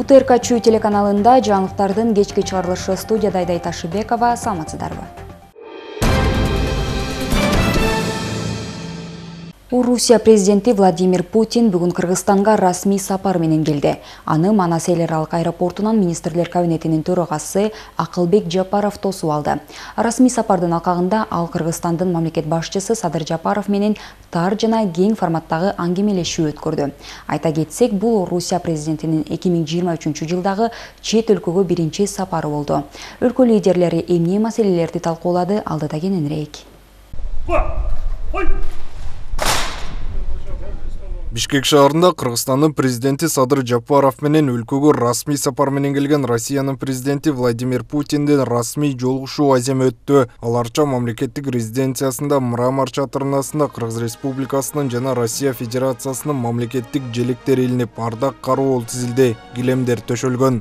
УТРК телеканалында жаңылыктардын кечки чыгарылышы, студияда Айдай Ташыбекова. Саламатсыздарбы? Русия президенти Владимир Путин бүгүн Кыргызстанга расмий сапар менен келди. Аны Манас эл аралык аэропортунан министрлер кабинетинин төрагасы Акылбек Жапаров тосуп алды. Расмий сапардын алкагында ал Кыргызстандын мамлекет башчысы Садыр Жапаров менен тар жана кең форматтагы аңгемелешүү өткөрдү. Айта кетсек, бул Русия президентинин 2023 жылдагы чет өлкөгө биринчи сапары болду. Өлкө лидерлери эмне маселелерди талкуулады, алдыда кененирээк. Бишкек шаарында Кыргызстандын президенти Садыр Жапаров менен өлкөгө расмий сапар менен келген Россиянын президенти Владимир Путиндин расмий жолугушуу азем өттү. Аларча мамлекеттик резиденциясында Мрамор чатырынасында Кыргыз Республикасынын жана Россия Федерациясынын мамлекеттик желектери илинип, ардак кароол тизилди, килемдер төшөлгөн.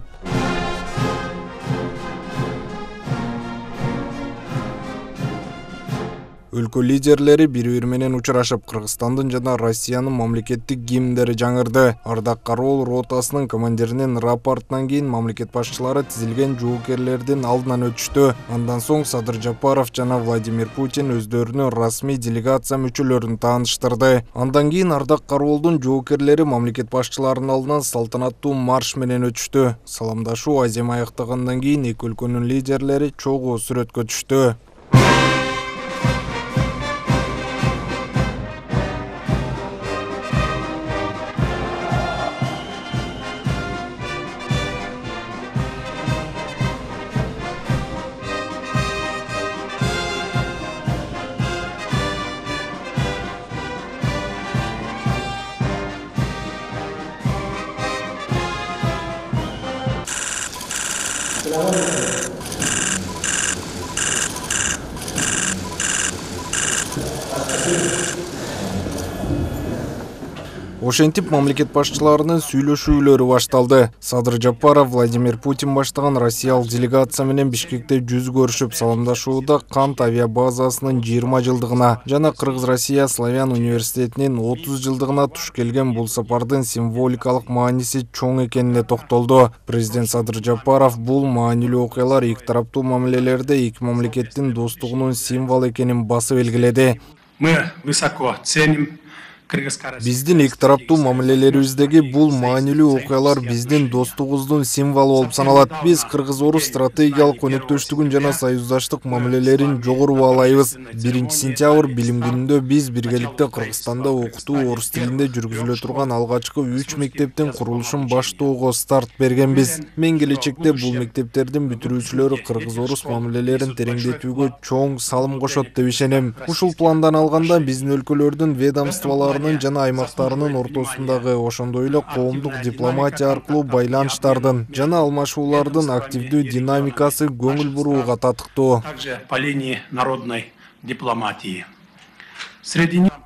Өлкө лидерлери бири-бири менен учурашып, Кыргызстандын жана Россиянын мамлекеттик гимндери жаңырды. Ардак кароол ротасынын командиринин рапортунан кийин мамлекет башчылары тизилген жоокерлердин алдынан өтүштү. Андан соң Садыр Жапаров жана Владимир Путин өздөрүнүн расмий делегация мүчөлөрүн тааныштырды. Андан кийин ардак кароолдун жоокерлери мамлекет башчыларынын алдынан салтанаттуу марш менен өтүштү. Саламдашуу азем аяктагандан кийин эки өлкөнүн лидерлери чогуу сүрөткө түштү. Ошентип мамлекет башчыларынын сүйлөшүүлөрү башталды. Садыр Жапаров Владимир Путин баштаган Россиялык делегация менен Бишкекте жүз көрүшүп, саламдашууда Кант авиабазасынын 20 жылдыгына жана Кыргыз-Россия Славян университетинин 30 жылдыгына туш келген бул сапардын символикалык мааниси чоң экенине токтолду. Президент Садыр Жапаров бул маанилүү окуялар эки тараптуу мамилелерде эки мамлекеттин достугунун символу экенин басып белгиледи. Мы высоко ценим Биздин эки тараптуу мамилелерибиздеги бул маанилүү окуялар биздин достугубуздун символу болуп саналат. Биз кыргыз-орус стратегиялык өнөктөштүгүн жана союздаштык мамилелерин жогору баалайбыз. 1-сентябрь билим күнүндө биз биргеликте Кыргызстанда окутуу орус тилинде жүргүзүлө турган алгачкы 3 мектептин курулушун баштоого старт бергенбиз. Мен келечекте бул мектептердин бүтүрүүчүлөрү кыргыз-орус мамилелерин тереңдетүүгө чоң салым кошот деп ишенем. Ушул пландан алганда биздин өлкөлөрдүн ведомстволору жана аймактарынын ортосундагы, ошондой эле коомдук дипломатия аркылуу байланыштардын жана алмашуулардын активдүү динамикасы көңүл бурууга татыктуу. Также по линии народной дипломатии.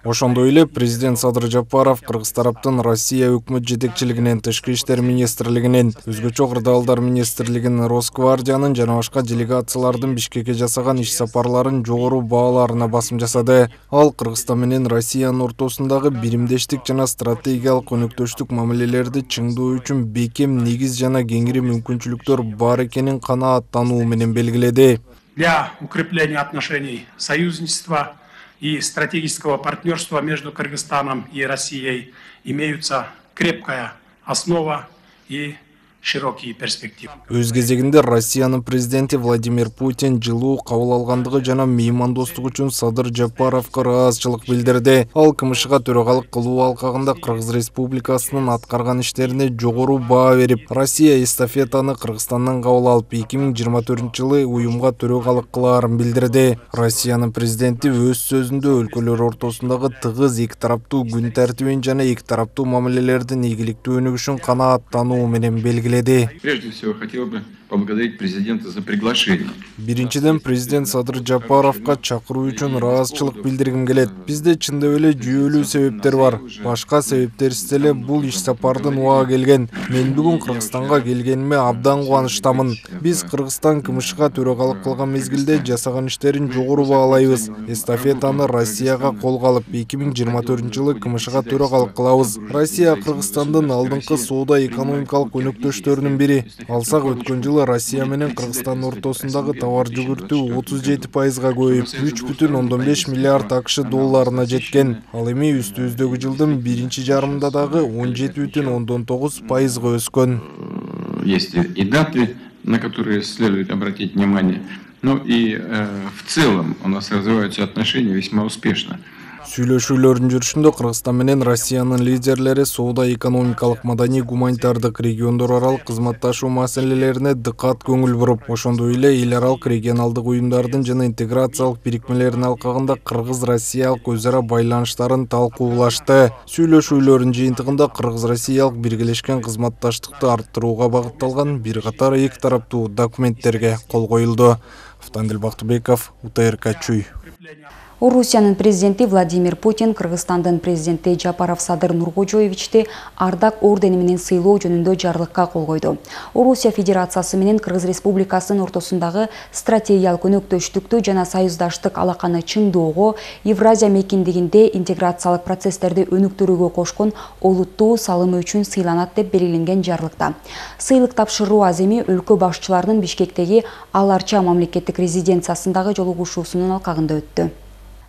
Ошондой эле президент Садыр Жапаров Кыргыз тараптын Россия өкмөт жетекчилигинен, Тышкы иштер министрлигинен, өзгөчө кырдаалдар министрлигинин, Росгвардиянын жана башка делегациялардын Бишкекке жасаган иш сапарларын жогору бааларына басым жасады. Ал Кыргызстан менен Россиянын ортосундагы биримдештик жана стратегиялык өнөктөштүк мамилелерди чыңдоо үчүн бекем негиз жана кеңири мүмкүнчүлүктөр бар экенин канааттануу менен белгиледи. Для укрепления отношений союзничества и стратегического партнерства между Кыргызстаном и Россией имеются крепкая основа и широкие перспективы. Өз кезегинде Россиянын президенти Владимир Путин жылуу кабыл алгандыгы жана меймандостук үчүн Садыр Жапаровго ыраазычылык билдирди. Ал КМШга төрагалык кылуу алкагында Кыргыз Республикасынын аткарган иштерине жогору баа берип, Россия эстафетаны Кыргызстандан кабыл алып, 2024-жылы уюмга төрагалык кылаарын билдирди. Россиянын президенти өз сөзүндө өлкөлөр ортосундагы тыгыз эки тараптуу күн тартибин жана эки тараптуу мамилелердин ийгиликтүү өнүгүшүн канааттануу менен белгиледи. Прежде всего хотел бы поблагодарить президента за приглашение. Биринчиден президент Садыр Жапаровго чакыруу үчүн ыраазычылык билдиргим келет. Бизде чындап эле жүйөлүү себептер бар. Башка себептерсиз эле бул иш сапардын убагы келген. Мен бүгүн Кыргызстанга келгениме абдан кубанычтамын. Биз Кыргызстан КМШга төрагалык кылган мезгилде жасаган иштерин жогору баалайбыз. Эстафетаны Россияга колго алып 2024-жылы КМШга төрагалык кылабыз. Россия Кыргызстандын алдыңкы соода-экономикалык өнөктөштөрүнүн бири. Алсак өткөн жылы Россия менен Кыргызстан ортосундагы товар жүгүртүү 37%га көбөйүп, 3,5 миллиард АКШ долларына жеткен. Ал эми үстүбүздөгү жылдын биринчи жарымында дагы 17,9%га өскөн. Есть и даты, на которые следует обратить внимание. Ну и в целом у нас развиваются отношения весьма успешно. Сүйлөшүүлөрдүн жүрүшүндө Кыргызстан менен Россиянын лидерлери соода-экономикалык, маданий, гуманитардык, региондор аралык кызматташуу маселелерине дыкат көңүл буруп, ошондой эле эл аралык регионалдык уюмдардын жана интеграциялык бирикмелердин алкагында кыргыз-россиялык өз ара байланыштарын талкуулашты. Сүйлөшүүлөрдүн жыйынтыгында кыргыз-россиялык биргелешкен кызматташтыкты арттырууга багытталган бир катар эки тараптуу документтерге кол коюлду. Автандил Бактыбеков, УТРК Чүй. Орусиянын президенти Владимир Путин Кыргызстандын президенти Жапаров Садыр Нуркожоевичти Ардак ордени менен сыйлоо жөнүндө жарлыкка кол койду. Орусия Федерациясы менен Кыргыз Республикасынын ортосундагы стратегиялык өнөктөштүктү жана союздаштык алаканы чыңдоого, Евразия мейкиндигинде интеграциялык процесстерди өнүктүрүүгө кошкон олуттуу салымы үчүн сыйланат деп белгиленген жарлыкта. Сыйлык тапшыруу аземи өлкө башчыларынын Бишкектеги Аларча мамлекеттик резиденциясындагы жолугушуусунун алкагында өттү.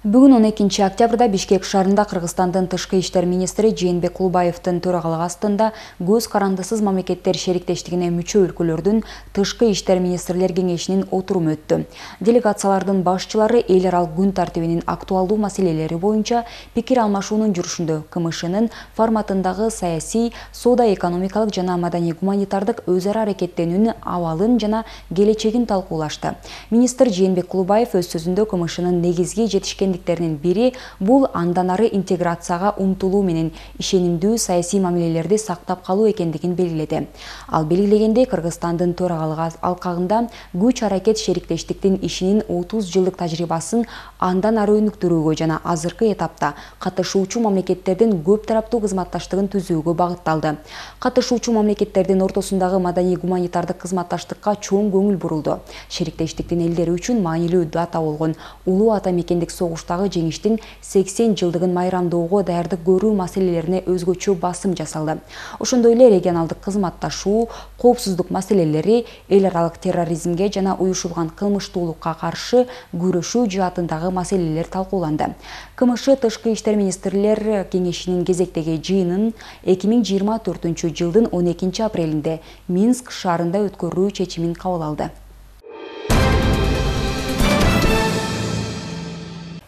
Бүгүн 12 октябрда Бишкек шаарында Кыргызстандын тышкы иштер министри Жээнбек Кулбаевдин төрагалыгы астында көз карандысыз мамлекеттер шериктештигине мүчө өлкөлөрдүн тышкы иштер министрлер кеңешинин отуруму өттү. Делегациялардын башчылары эл аралык күн тартибинин актуалдуу маселелери боюнча пикир алмашуунун жүрүшүндө КМШнын форматындагы саясий, соода-экономикалык жана маданий-гуманитардык өз ара аракеттенүүнүн абалын жана келечегин талкуулашты. Министр Жээнбек Кулбаев өз сөзүндө КМШнын негизги жетишкендиктеринин бири бул андан ары интеграцияга умтулуу менен ишенимдүү саясий мамилелерди сактап калуу экендигин белгиледи. Ал белгилегендей, Кыргызстандын төрагалыгы алкагында күч аракет шериктештиктин ишинин 30 жылдык тажрыйбасын андан ары өнүктүрүүгө жана азыркы этапта катышуучу мамлекеттердин көп тараптуу кызматташтыгын түзүүгө багытталды. Катышуучу мамлекеттердин ортосундагы маданий-гуманитардык кызматташтыкка чоң көңүл бурулду. Шериктештиктин элдери үчүн маанилүү дата болгон улуу ата мекендик согуштагы жеңиштин 80 жылдыгын майрамдоого даярдык көрүү маселелерине өзгөчө басым жасалды. Ошондой эле регионалдык кызматташуу, коопсуздук маселелери, эл аралык терроризмге жана уюшулган кылмыштуулукка каршы күрөшүү жаатындагы маселелер талкууланды. КМШ тышкы иштер министрлер кеңешинин кезектеги жыйынын 2024 жылдын 12 апрелинде Минск шаарында өткөрүү чечимин кабыл алды.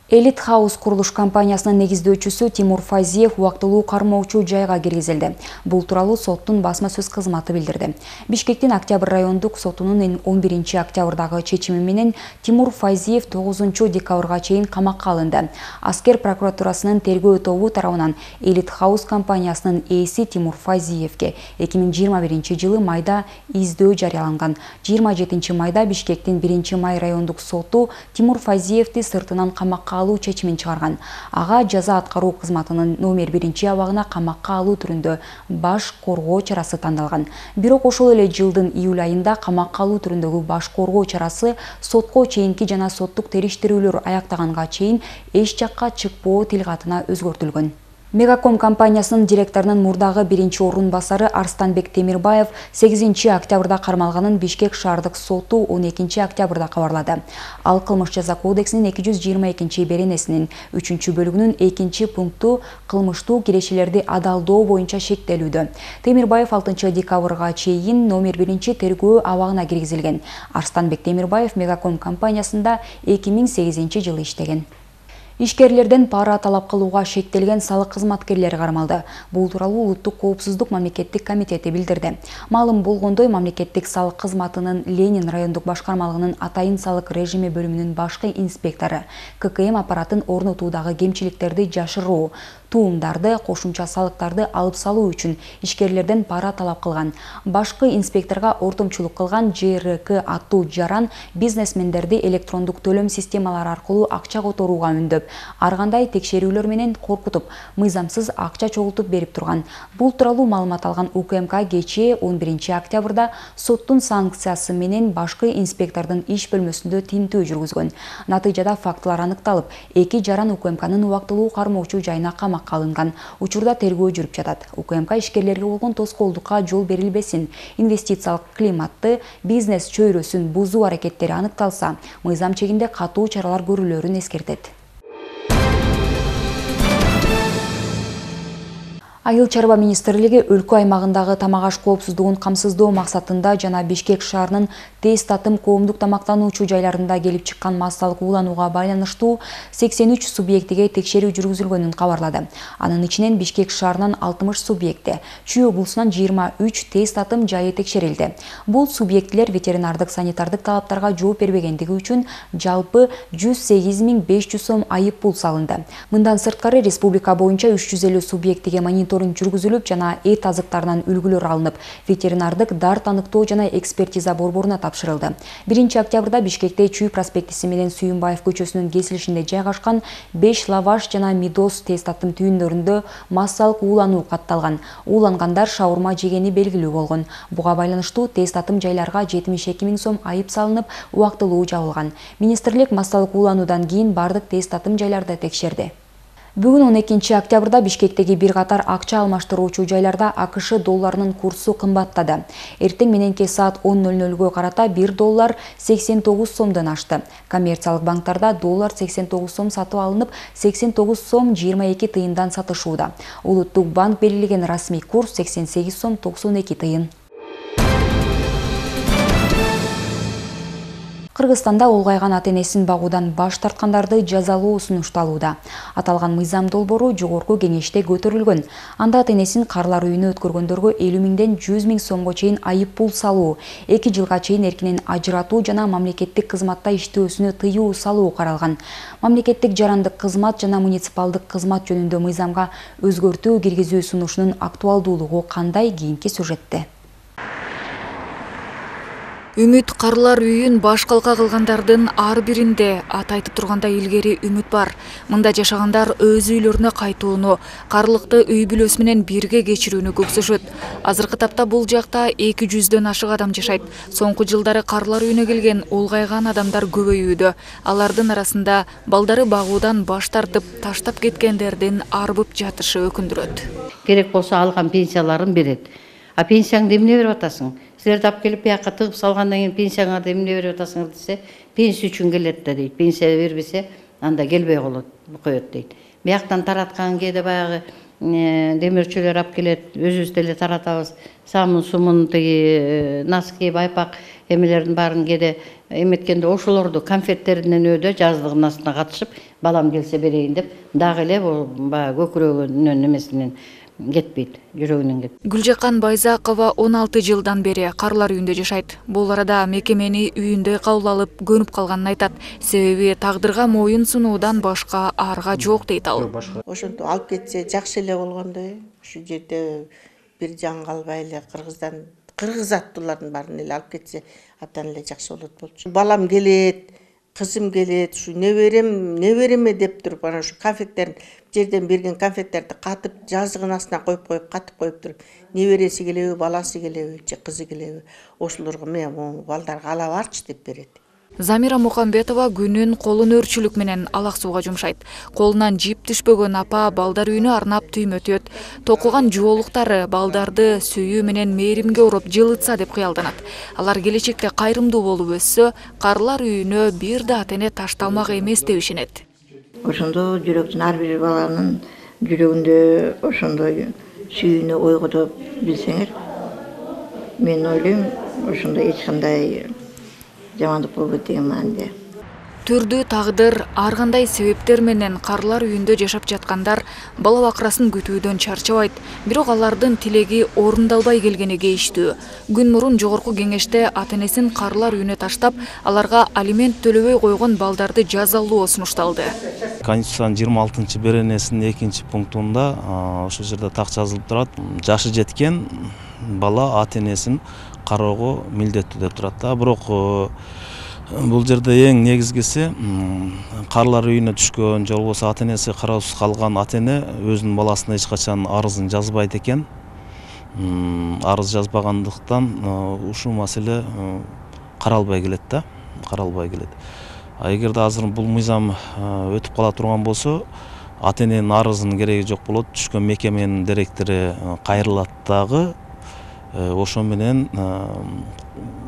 Элит Хаус курулуш компаниясынын негиздөөчүсү Тимур Файзиев убактылуу кармоочу жайга киргизилди. Бул тууралуу соттун басма сөз кызматы билдирди. Бишкектин Октябрь райондук сотунун 11 октябрдагы чечими менен Тимур Файзиев 9 декабрга чейин камакка алынды. Аскер прокуратурасынын тергөө тобу тарабынан Элит Хаус компаниясынын ээси Тимур Файзиевге 2021 жылы майда издөө жарыяланган. 27 майда Бишкектин 1 май райондук соту Тимур Файзиевди сыртынан камакка алуу чечимин чыгарган. Ага жаза аткаруу кызматынын номер 1 абагына камакка алуу түрүндө баш коргоо чарасы тандалган. Бирок ошол эле жылдын июль айында камакка алуу түрүндөгү баш коргоо чарасы сотко чейинки жана соттук териштирүүлөр аяктаганга чейин эч жакка чыкпоо тилкатына өзгөртүлгөн. Мегаком компаниясынын директорунун мурдагы 1 басары Арстанбек Темирбаев 8 октябрда кармалганын Бишкек шаардык соту 12 октябрда кабарлады. Ал кылмыш жаза кодексинин 222 беренесинин 3 бөлүгүнүн 2 пункту кылмыштуу кирешелерди адалдоо боюнча шектелүүдө. Темирбаев 6 декабрга чейин номер 1 тергөө абагына киргизилген. Арстанбек Темирбаев Мегаком компаниясында 2008 жылы иштеген. Ишкерлерден пара талап кылууга шектелген салык кызматкерлери кармалды. Бул тууралуу Улуттук коопсуздук мамлекеттик комитети билдирди. Маалым болгондой, мамлекеттик салык кызматынын Ленин райондук башкармалыгынын атайын салык режими бөлүмүнүн башкы инспектору ККМ аппаратын орнотуудагы кемчиликтерди жашыруу, туумдарды, кошумча салыктарды алып салуу үчүн ишкерлерден пара талап кылган. Башкы инспекторго ортомчулук кылган ЖРК аттуу жаран бизнесмендерди электрондук төлөм системалары аркылуу акча которууга үндөп, ар кандай текшерүүлөр менен коркутуп, мыйзамсыз акча чогултуп берип турган. Бул тууралуу маалымат алган УКМК кечээ 11 октябрда соттун санкциясы менен башкы инспектордун иш бөлмөсүндө тинтүү жүргүзгөн. Натыйжада фактылар аныкталып, 2 жаран УКМКнын убактылуу кармоочу жайына камакка алынган. Учурда тергөө жүрүп жатат. УКМК ишкерлерге болгон тоскоолдукка жол берилбесин, инвестициялык климатты, бизнес чөйрөсүн бузуу аракеттери аныкталса, мыйзам чегинде катуу чаралар көрүлөрүн эскертет. Айыл чарба министрлиги өлкө аймагындагы тамак аш коопсуздугун камсыздоо максатында жана Бишкек шаарынын тез татым коомдук тамактануучу жайларында келип чыккан массалык ууланууга байланыштуу 83 субъектиге текшерүү жүргүзүлгөнүн кабарлады. Анын ичинен Бишкек шаарынан 60 субъекти, Чүй облусунан 23 тез татым жайы текшерилди. Бул субъектилер ветеринардык санитардык талаптарга жооп бербегендиги үчүн жалпы 108.500 сом айып пул салынды. Мындан сырткары республика боюнча 350 субъектиге мониторинг жүргүзүлүп жана эт азыктарынан үлгүлөр алынып, ветеринардык дар таныктоо жана экспертиза борборуна тапшырылды. 1 октябрда Бишкекте Чүй проспектиси менен Сүйүнбаев көчөсүнүн кесилишинде жайгашкан 5 лаваш жана мидос тез татым түйүндөрүндө массалык уулануу катталган. Уулангандар шаурма жегени белгилүү болгон. Буга байланыштуу тез татым жайларга 72.000 сом айып салынып, убактылуу жабылган. Министрлик массалык уулануудан кийин бардык тез татым жайларды текшерди. Бүгүн 12 октябрда Бишкектеги бир катар акча алмаштыруучу жайларда АКШ долларынын курсу кымбаттады. Эртең мененки саат 10:00 карата 1 доллар 89 сомдон ашты. Коммерциялык банктарда доллар 89 сом сатып алынып, 89 сом 22 тыйындан сатышууда. Улуттук банк белгилеген расмий курс 88 сом 92 тыйын. Кыргызстанда улгайган ата-энесин багуудан баш тарткандарды жазалоо сунушталууда. Аталган мыйзам долбоору жогорку кеңеште көтөрүлгөн. Анда ата-энесин карлар үйүнө өткөргөндөргө 50 миңден 100 миң сомго чейин айып пул салуу, 2 жылга чейин эркинен ажыратуу жана мамлекеттик кызматта иштөөсүнө тыюу салуу каралган. Мамлекеттик жарандык кызмат жана муниципалдык кызмат жөнүндө мыйзамга өзгөртүү киргизүү сунушунун актуалдуулугу кандай? Кийинки сюжетте. Үмүт карлар үйүн баш калка кылгандардын ар биринде аты айтып тургандай илгери үмүт бар. Мында жашагандар өз үйлөрүнө кайтууну, карлыкты үй бүлөсү менен бирге кечирүүнү көксөшөт. Азыркы тапта бул жакта 200дөн ашык адам жашайт. Соңку жылдары карлар үйүнө келген улгайган адамдар көбөйүүдө. Алардын арасында балдары багуудан баш тартып, таштап кеткендердин арбып жатышы өкүндүрөт. Керек болсо алган пенсияларын берет. А пенсияңды эмне берип атасың? Силерди алып келип бияка тыгып салгандан кийин пенсияңарды эмне берип атасыңар десе, пенсия үчүн келет да дейт. Пенсия бербесе, анда келбей коет дейт. Бияктан тараткан кээде баягы демирчүлөр алып келет, өзүбүз деле таратабыз. Самын, сумун, тиги носки, байпак эмелердин баарын кээде эметкенде ошолорду конфеттеринен өйдө жаздыгын астына катышып, балам келсе берейин деп, дагы эле баягы көкүрөгүнүн эмесинен кетпейт, жүрөгүнөн кетпейт. Гүлжакан Байзакова 16 жылдан бери карлар үйүндө жашайт. Бул арада мекемени үйүндө кабыл алып көнүп калганын айтат. Себеби тагдырга моюн сунуудан башка арга жок дейт ал. Ошентип алып кетсе жакшы эле болгондой. Ушу жерде бир жан калбай эле кыргыз аттуулардын баарын эле алып кетсе абдан эле жакшы болот болчу. Балам келет, кызым келет, ушу небереме деп туруп, ana ушу конфеттерин жерден берген конфеттерди катып жазыгын астына коюп катып коюп туруп, небереси келеби, баласы келеби, же кызы келеби, ошолорго мен балдарга ала барчы деп берет. Замира Мухамбетова күнүн колун өрчүлүк менен алак сууга жумшайт. Колунан жип түшпөгөн апа балдар үйүнө арнап түймөтөт. Токуган жоолуктары балдарды сүйүү менен мээримге уруп жылытса деп кыялданат. Алар келечекте кайрымдуу болуп өссө, карлар үйүнө бир да ата-эне ташталмак эмес деп ишенет. Ошондо жүрөктүн ар бир баланын жүрөгүндө ошондой сүйүүнү ойготуп билсеңер, мен ойлойм, ошондой эч кандай жамандык болбойт деген мааниде. Түрдүү тагдыр, ар кандай себептер менен карлар үйүндө жашап жаткандар бала бакырасын күтүүдөн чарчабайт. Бирок алардын тилеги орундалбай келгени кейиштүү. Күн мурун жогорку кеңеште ата-энесин карлар үйүнө таштап, аларга алимент төлөбөй койгон балдарды жазалоо сунушталды. Конституциянын 26-беренесинин 2-пунктунда ошол жерде так жазылып турат. Жашы жеткен бала ата-энесин кароого милдеттүү деп турат да. Бирок бул жерде эң негизгиси карлар үйүнө түшкөн же болбосо ата-энеси кароосуз калган ата-эне өзүнүн баласына эч качан арызын жазбайт экен. Арыз жазбагандыктан ушул маселе каралбай келет да, каралбай келет. Эгерде азыр бул мыйзам өтүп кала турган болсо, ата-эненин арызынын кереги жок болот, түшкөн мекеменин директору кайрылат дагы. Ошо менен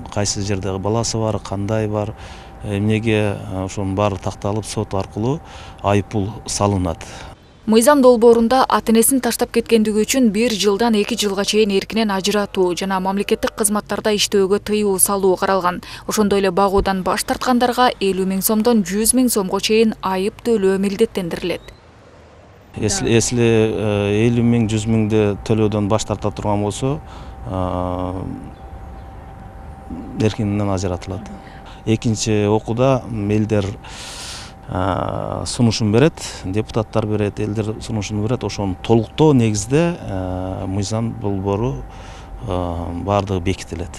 кайсы жерде баласы бар, кандай бар, эмнеге ошонун баары такталып сот аркылуу айыппул салынат. Мыйзам долбоорунда ата-энесин таштап кеткендиги үчүн 1 жылдан 2 жылга чейин эркинен ажыратуу жана мамлекеттик кызматтарда иштөөгө тыюу салуу каралган. Ошондой эле багуудан баш тарткандарга 50 000 сомдон 100 000 сомго чейин айып төлөө милдеттендирилет. Если 50 000, 100 000 төлөөдөн баш тарта турган болсо, эркинен ажыратылат. Экинчи окууда элдер сунушун берет, депутаттар берет, элдер сунушун берет. Ошону толуктоо негизде мыйзам долбоору баардыгы бекитилет.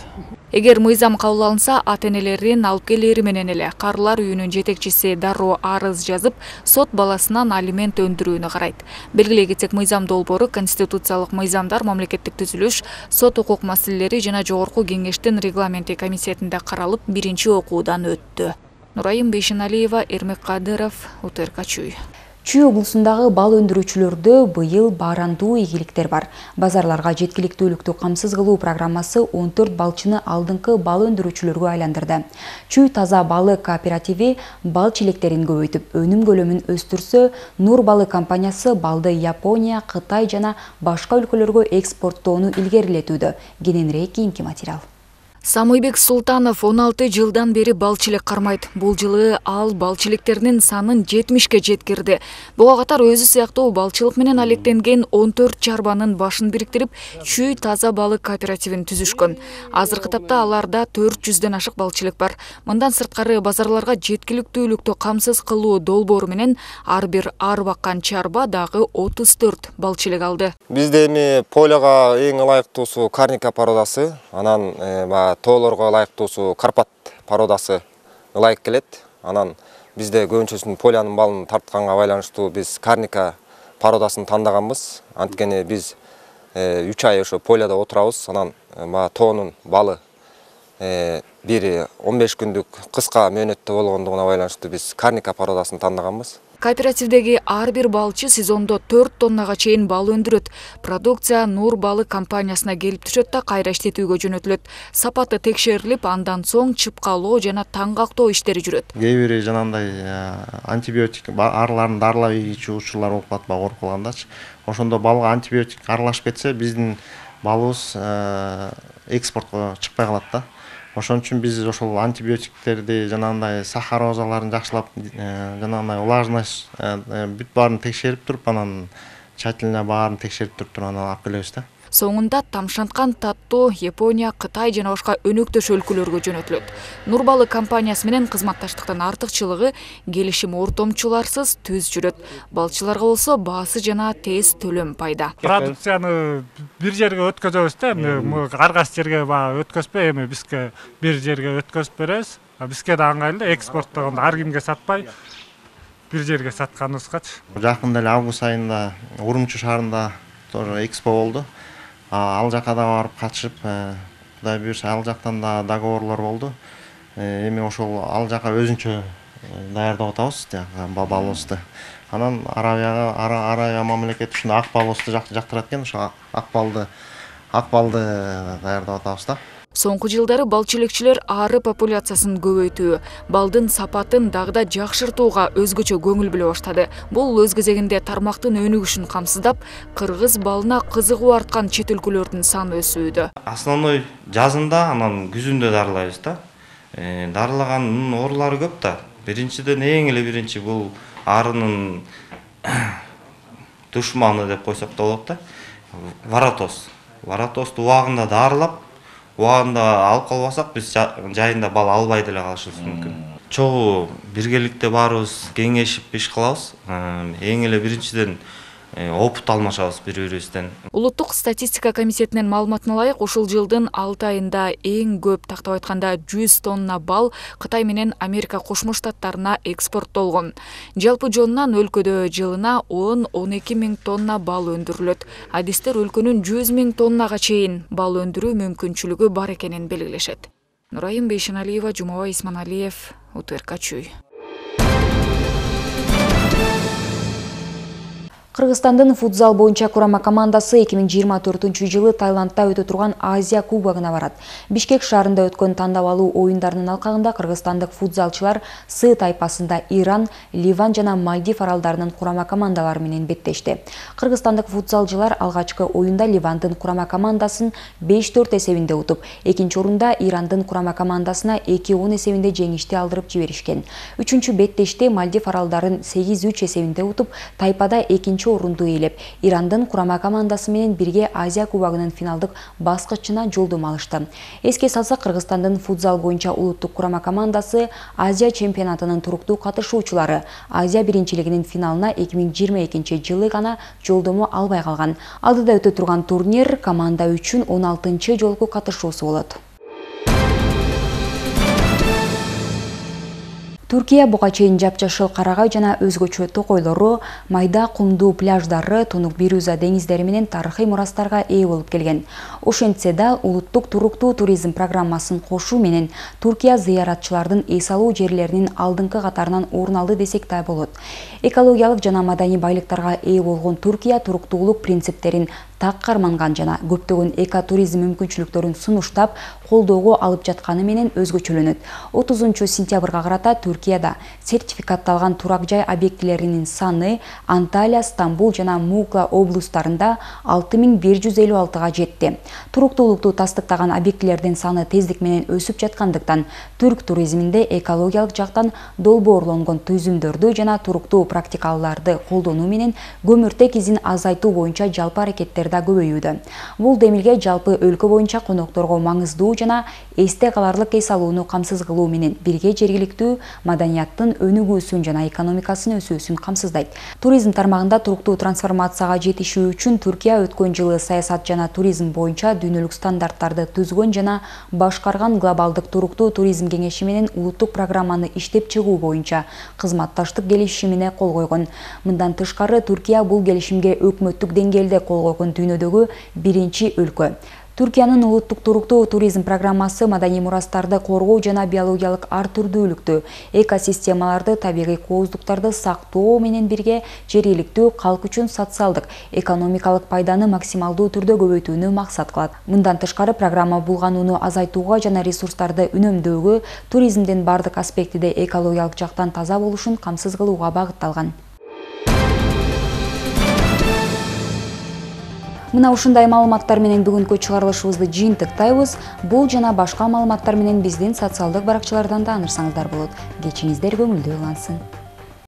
Эгер мыйзам кабыл алынса, ата-энелерин алып келери менен эле карлар үйүнүн жетекчиси дароо арыз жазып, сот баласынан алимент өндүрүүнү карайт. Белгилей кетсек, мыйзам долбоору конституциялык мыйзамдар, мамлекеттик түзүлүш, сот укук маселелери жана жогорку кеңештин регламенти комитетинде каралып, 1-окуудан өттү. Нурайым Бейшеналиева, Эрмек Кадыров, УТРК Чүй. Чүй облусундагы бал өндүрүүчүлөрдө быйыл баарандуу ийгиликтер бар. Базарларга жеткиликтүүлүктү камсыз кылуу программасы 14 балчыны алдыңкы бал өндүрүүчүлөргө айландырды. Чүй таза балы кооперативи бал чилектерин көбөйтүп, өнүм көлөмүн өстүрсө, Нур балы компаниясы балды Япония, Кытай жана башка өлкөлөргө экспорттоону илгерилетүүдө. Кененирээк кийинки материал. Самыйбек Султанов 16 жылдан бери балчылык кармайт. Бул жылы ал балчылыктеринин санын 70-ке жеткирди. Буга катар өзү сыяктуу балчылык менен алектенген 14 чарбанын башын бириктирип, Чүй таза балы кооперативин түзүшкөн. Азыркы тапта аларда 400дөн ашык балчылык бар. Мындан сырткары базарларга жеткиликтүүлүктү камсыз кылуу долбоору менен ар бир ар баккан чарба дагы 34 балчылык алды. Бизде эми поляга эң ылайыктуусу Карника породасы, анан тоолорго ылайыктуусу Карпат породасы ылайык келет. Анан бизде көбүнчөсүн полянын балын тартканга байланыштуу биз Карника породасын тандаганбыз. Анткени биз 3 ай ошо поляда отурабыз. Анан тоонун балы бири 15 күндүк кыска мөөнөттө болгондугуна байланыштуу биз Карника породасын тандаганбыз. Кооперативдеги ар бир балчы сезондо 4 тоннага чейин бал өндүрөт. Продукция Нур балы компаниясына келип түшөт да кайра иштетүүгө жөнөтүлөт. Сапаты текшерилип, андан соң чыпкалоо жана таңгактоо иштери жүрөт. Кээ бири жанагындай антибиотик арларын дарылап ийгичи учурлар болуп атпайбы, коркулгандачы. Ошондо балга антибиотик аралашып кетсе, биздин балыбыз экспортко чыкпай калат да. Ошон үчүн биз ошол антибиотиктерди, жанагындай сахарозаларын жакшылап, жанагындай влажность бүт баарын текшерип туруп, анан тщательно баарын текшерип туруп анан алып келебиз да. Соңунда тамшанткан таттуу Япония, Кытай жана башка өнөктөш өлкөлөргө жөнөтүлөт. Нур балы компаниясы менен кызматташтыктын артыкчылыгы келишим ортомчуларсыз түз жүрөт. Балчыларга болсо баасы жана тез төлөм пайда. Продукцияны бир жерге өткөзөбүз да, ар кайсы жерге өткөзбөй, эми бизге бир жерге өткөзүп беребиз. Бизге да ыңгайлуу, экспорттогондо ар кимге сатпай бир жерге сатканыбызгачы. Жакында эле август айында Урумчи шаарында тоже экспо болду. Ал жака да барып катышып, Кудай буюрса ал жактан да договорлор болду. Эми ошол ал жака өзүнчө даярдап атабыз, балыбызды. Анан Арабия мамлекети ушундай ак балыбызды жактырат экен, ошо ак балды даярдап атабыз да. Соңку жылдары балчылыкчылар ары популяциясын көбөйтүү, балдын сапатын дагы жакшыртууга өзгөчө көңүл бөлө баштады. Бул өз кезегинде тармактын өнүгүшүн камсыздап, кыргыз балына кызыгуу арткан чет өлкөлөрдүн саны өсүүдө. Основной жазында, анан күзүндө дарылайбыз да. Дарылагандын оорулары көп да. Биринчиден эң эле биринчи бул арынын душманы деп койсок да болот да. Варатоз. Варатозду убагында дарылап, убагында алып калбасак, биз жайында бал албай деле калышыбыз мүмкүн. Чогуу биргеликте баарыбыз кеңешип иш кылабыз. Эң эле биринчиден опыт алмашабыз бири-бирибизден. Улуттук статистика комитетинин маалыматына ылайык, ушул жылдын 6 айында эң көп, тактап айтканда 100 тонна бал Кытай менен Америка Кошмо Штаттарына экспорттолгон. Жалпы жонунан өлкөдө жылына 10-12 миң тонна бал өндүрүлөт. Адистер өлкөнүн 100 миң тоннага чейин бал өндүрүү мүмкүнчүлүгү бар экенин белгилешет. Нурайым Бейшеналиева, Жумабай Исманалиев, УТРК Чүй. Кыргызстандын футзал боюнча курама командасы 2024-жылы Таиландда өтө турган Азия кубогуна барат. Бишкек шаарында өткөн тандап алуу оюндарынын алкагында кыргызстандык футзалчылар С тайпасында Иран, Ливан жана Мальдив аралдарынын курама командалары менен беттешти. Кыргызстандык футзалчылар алгачкы оюнда Ливандын курама командасын 5-4 эсебинде утуп, экинчи орунда Ирандын курама командасына 2-10 эсебинде жеңишти алдырып жиберишкен. Үчүнчү беттеште Мальдив аралдарын 8-3 эсебинде утуп, тайпада экинчи орунду ээлеп, Ирандын курама командасы менен бирге Азия кубогунун финалдык баскычына жолдомо алышты. Эске салсак, Кыргызстандын футзал боюнча улуттук курама командасы Азия чемпионатынын туруктуу катышуучулары Азия биринчилигинин финалына 2022-жылы гана жолдомо албай калган. Алдыда өтө турган турнир команда үчүн 16-чы жолку катышуусу болот. Түркия буга чейин жапжашыл карагай жана өзгөчө токойлору, майда кумдуу пляждары, тунук Бирюза деңиздери менен тарыхый мурастарга ээ болуп келген. Ошентсе да, улуттук туруктуу туризм программасын кошуу менен Түркия зыяратчылардын эс алуу жерлеринин алдыңкы катарынан орун алды десек да болот. Экологиялык жана маданий байлыктарга ээ болгон Түркия туруктуулук принциптерин так карманган жана көптөгөн экотуризм мүмкүнчүлүктөрүн сунуштап, колдоого алып жатканы менен өзгөчөлөнөт. 30-сентябрга карата Түркияда сертификатталган турак жай объектилеринин саны Анталия, Стамбул жана Мукла облустарында 6156-га жетти. Туруктуулукту тастыктаган объектилердин саны тездик менен өсүп жаткандыктан түрк туризминде экологиялык жактан долбоорлонгон түзүмдөрдү жана туруктуу практикаларды колдонуу менен көмүртек изин азайтуу боюнча жалпы аракеттер да көбөйүүдө. Бул демилге жалпы өлкө боюнча конокторго маңыздуу жана эсте каларлык эс алууну камсыз кылуу менен бирге жергиликтүү маданияттын өнүгүүсүн жана экономикасынын өсүүсүн камсыздайт. Туризм тармагында туруктуу трансформацияга жетишүү үчүн Түркия өткөн жылы саясат жана туризм боюнча дүйнөлүк стандарттарды түзгөн жана башкарган глобалдык туруктуу туризм кеңеши менен улуттук программаны иштеп чыгуу боюнча кызматташтык келишимине кол койгон. Мындан тышкары, Түркия бул келишимге өкмөттүк деңгээлде кол койгон дүйнөдөгү биринчи өлкө. Түркиянын улуттук туруктуу туризм программасы маданий мурастарды коргоо жана биологиялык ар түрдүүлүктү, экосистемаларды, табигый кооздуктарды сактоо менен бирге жергиликтүү калк үчүн социалдык, экономикалык пайданы максималдуу түрдө көбөйтүүнү максат кылат. Мындан тышкары, программа булганууну азайтууга жана ресурстарды үнөмдөөгө, туризмдин бардык аспектиде экологиялык жактан таза болушун камсыз кылууга багытталган. Мына ушундай маалыматтар менен бүгүнкү чыгарылышыбызды жыйынтыктайбыз. Бул жана башка маалыматтар менен биздин социалдык баракчалардан да ынырсаңыздар болот. Кечиңиздер көңүлдүү улансын.